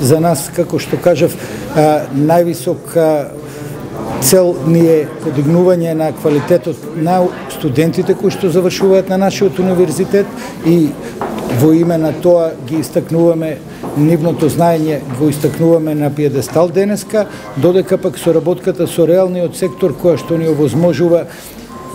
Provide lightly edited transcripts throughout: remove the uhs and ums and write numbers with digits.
за нас, како што кажав, највисок цел ни е подигнување на квалитетот на студентите кои што завршуваат на нашиот универзитет и во име на тоа ги истакнуваме нивното знаење, го истакнуваме на пиедестал денеска, додека пак соработката со реалниот сектор која што ни овозможува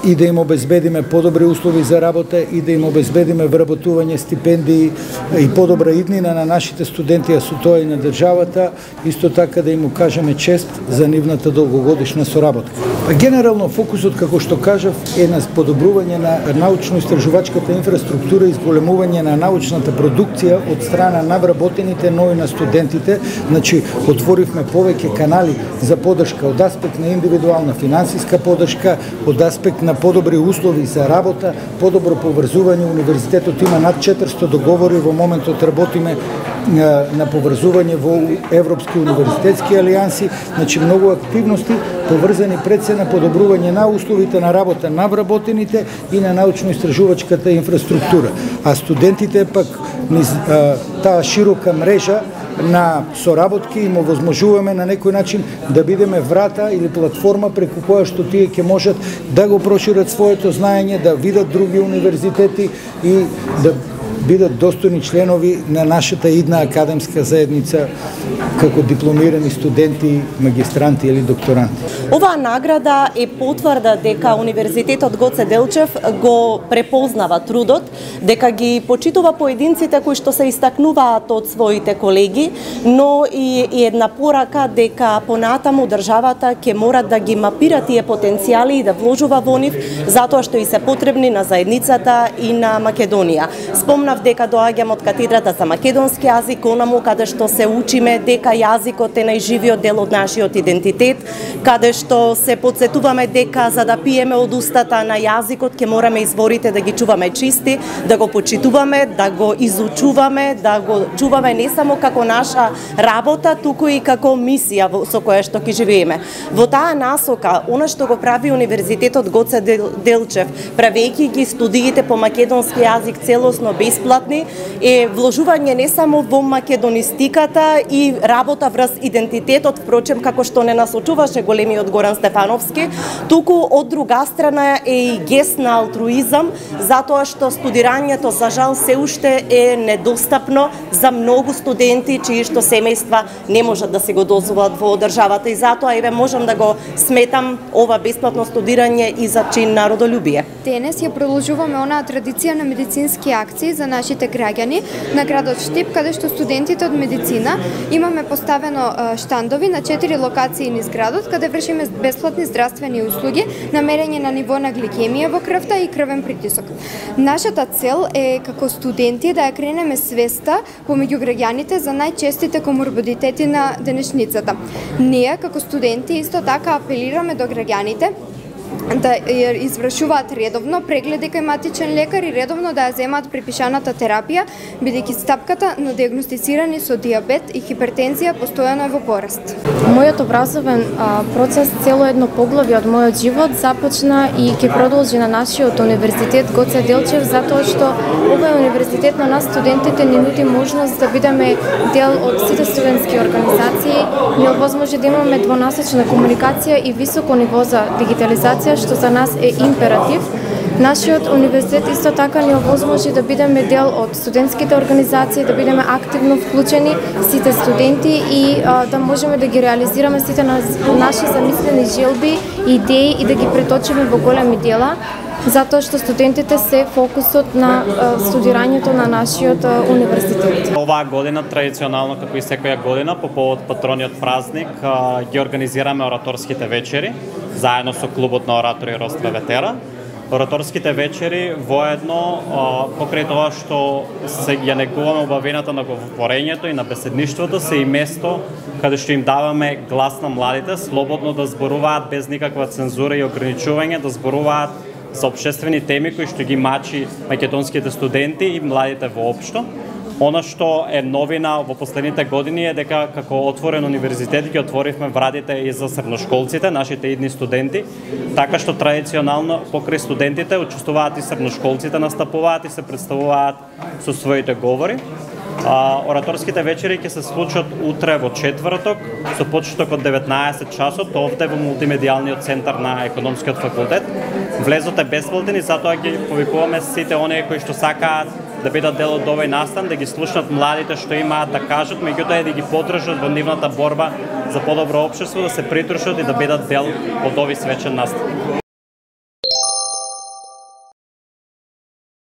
и да им обезбедиме подобри услови за работа и да им обезбедиме вработување, стипендии и подобра иднина на нашите студенти, а со тоа и на државата, исто така да им укажеме чест за нивната долгогодишна соработка. Генерално фокусот, како што кажав, е на подобрување на научно-истражувачката инфраструктура и зголемување на научната продукција од страна на вработените, но и на студентите. Значи, отворивме повеќе канали за поддршка од аспект на индивидуална финансиска поддршка, од аспект на подобри услови за работа, подобро поврзување. Универзитетот има над 400 договори, во моментот работиме на поврзување во Европски универзитетски алијанси, значи многу активности поврзани пред се на подобрување на условите на работа на вработените и на научно-истражувачката инфраструктура. А студентите пак низ таа широка мрежа на соработки им овозможуваме на некој начин да бидеме врата или платформа преку која што тие ќе можат да го прошират своето знаење, да видат други универзитети и да бидат достојни членови на нашата идна академска заедница како дипломирани студенти, магистранти или докторанти. Оваа награда е потврда дека Универзитетот Гоце Делчев го препознава трудот, дека ги почитува поединците кои што се истакнуваат од своите колеги, но и една порака дека понатаму државата ќе мора да ги мапира тие потенцијали и да вложува во нив, затоа што и се потребни на заедницата и на Македонија. Спомнав дека доаѓам од катедрата за македонски јазик, онаму каде што се учиме дека јазикот е најживиот дел од нашиот идентитет, каде што се подсетуваме дека за да пиеме од устата на јазикот ќе мораме изворите да ги чуваме чисти, да го почитуваме, да го изучуваме, да го чуваме не само како наша работа, туку и како мисија со која што ќе живееме. Во таа насока, она што го прави Универзитетот Гоце Делчев, правејќи ги студиите по македонски јазик целосно бесплатни, е вложување не само во македонистиката и работа врз идентитетот, впрочем како што не насочуваше големиот Горан Стефановски, туку од друга страна е и гест на алтруизам, затоа што студирањето за жал се уште е недостапно за многу студенти чии што семејства не можат да се го дозволат во државата и затоа еве можам да го сметам ова бесплатно студирање и за чин на родолюбие. Денес ја продолжуваме онаа традиција на медицински акции за нашите граѓани на градот Штип, каде што студентите од медицина имаме поставено штандови на 4 локации низ градот, каде вршиме бесплатни здравствени услуги на мерење на ниво на гликемија во крвта и крвен притисок. Нашата цел е како студенти да ја кренеме свеста помеѓу граѓаните за најчестите коморбидитети на денешницата. Ние како студенти исто така апелираме до граѓаните да ја извршуваат редовно прегледи кај матичен лекар и редовно да ја земаат препишаната терапија, бидејќи стапката на диагностицирани со диабет и хипертензија постојано е во пораст. Мојот образовен процес, цело едно поглавје од мојот живот започна и ќе продолжи на нашиот универзитет Гоце Делчев, затоа што овој универзитет на нас студентите ни нуди можност да бидеме дел од сите студентски организации, ни овозможи да имаме двонасочна комуникација и високо ниво за дигитализација, што за нас е императив. Нашиот универзитет исто така ни овозможи да бидеме дел од студентските организации, да бидеме активно вклучени сите студенти и да можеме да ги реализираме сите наши замислени желби, идеи и да ги преточиме во големи дела, затоа што студентите се фокусот на студирањето на нашиот универзитет. Оваа година традиционално, како и секоја година, по повод патрониот празник, ги организираме ораторските вечери заедно со клубот на оратори Ростра Ветера. Ораторските вечери воедно покрај тоа што се ја негуваме убавината на говорењето и на беседништвото, се и место каде што им даваме глас на младите, слободно да зборуваат без никаква цензура и ограничување, да зборуваат за општествени теми кои што ги мачи македонските студенти и младите воопшто. Она што е новина во последните години е дека како отворен универзитет ги отворивме вратите и за средношколците, нашите идни студенти, така што традиционално покрај студентите учествуваат и средношколците, настапуваат и се представуваат со своите говори. Ораторските вечери ќе се случат утре во четврток со почеток од 19 часот овде во мултимедијалниот центар на економскиот факултет. Влезот е бесплатен и затоа ги повикуваме сите оние кои што сакаат да бидат дел од овој настан, да ги слушнат младите што имаат да кажат, меѓутоа и да ги поддржат во нивната борба за подобро општество, да се придружат и да бидат дел од овој свечен настан.